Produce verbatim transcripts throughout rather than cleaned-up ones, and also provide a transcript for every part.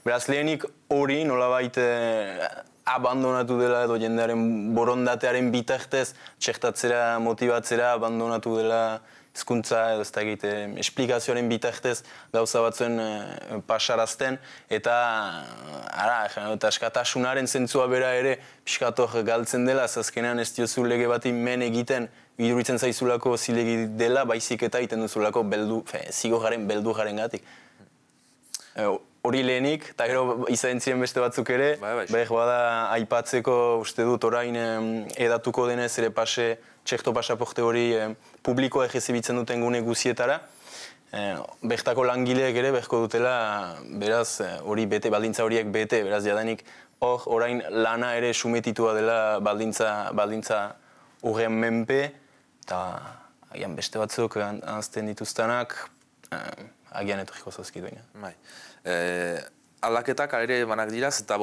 Beraz, lehenik hori nolabait abandonatu dela edo jendearen borondatearen bitartez txertatzera, motibatzera abandonatu dela hizkuntza edo ez da egite esplikazioaren bitartez gauza batzuen pasarazten eta ara, eta askatasunaren zentzua bera ere pixkator galtzen dela, azkenean ez diozu lege bati men egiten iduritzen zaizulako zilegi dela, baizik eta egiten duzulako beldu, zigorraren beldurraren gatik. Hori lehenik, eta gero izan ziren beste batzuk ere, behar bada aipatzeko uste dut orain edatuko denez ere pase, txerto pasaporte hori publikoa egezibitzen duten gune guzietara. Bertako langileek ere beharko dutela, beraz, hori bete, baldintza horiek bete, beraz jadanik hor orain lana ere sumetitua dela baldintza, baldintza horren menpe, eta agian beste batzuk anzten dituztenak, agian etorriko zauzkiduena. Bai. Aldaketak ere emanak diraz, eta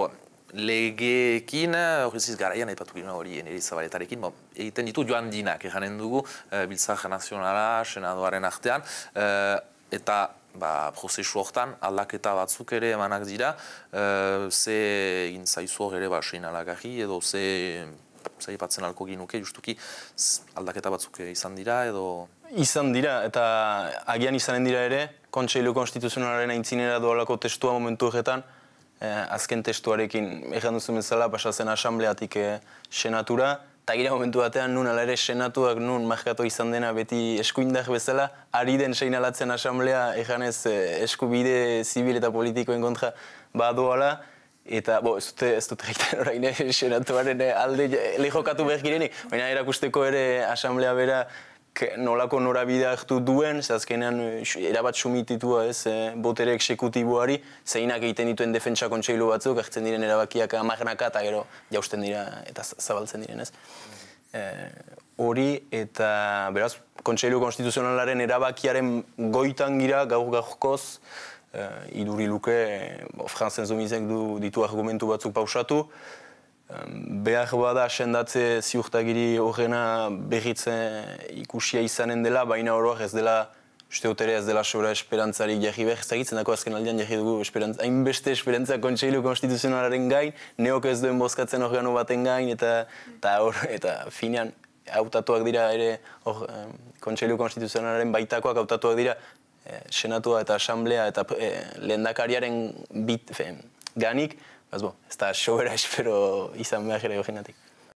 legeekin, horreziz garaian aipatu gina hori Zabaletarekin, egiten ditu joan dinak, eganen dugu, Biltzar Nazionala, Senadoaren artean, eta prozesu hortan aldaketa batzuk ere emanak dira, ze egin zaizu hor ere sein alagarri, edo ze zaipatzen alko ginuke, justuki aldaketa batzuk izan dira, edo... Izan dira, eta agian izanen dira ere, Kontseilu Konstituzionalaren aintzinera doalako testua momentu horretan, azken testuarekin egan duzu bezala pasatzen asambleatik senatura, eta gira momentu batean nun ala ere senatuak nun markatu izan dena beti eskuindar bezala, ari den seinalatzen asamblea eganez eskubide zibil eta politikoen kontra badoala, eta, bo, ez dute, ez dute egiten orain senatuaren alde lehokatu behar girenik, baina erakusteko ere asamblea bera nolako norabidea hartu duen, azkenean erabat sumititua ez, botere eksekutiboari, zeinak egiten dituen defentsa kontseilu batzuk, hartzen diren erabakiak amagnaka eta gero jausten dira eta zabaltzen diren ez. Hori eta beraz, Kontseilu Konstituzionalaren erabakiaren goitan gira gaur gaurkoz, iduri luke, Franzen Zomizek ditu argumentu batzuk pausatu, behar bada sendatze ziurtagiri horrena berritze ikusia izanen dela, baina oroak ez dela, uste dut ere ez dela sobra esperantzarik jarri behar, ezagitzen dako azken aldean jarri dugu hainbeste esperantza Kontseilu Konstituzionalaren gain, neok ez duen bozkatzen organo baten gain, eta finean hautatuak dira ere Kontseilu Konstituzionalaren baitakoak hautatuak dira senatua eta asamblea eta lehendakariaren ganik, ez da sobera espero izan behar ere gogenatik.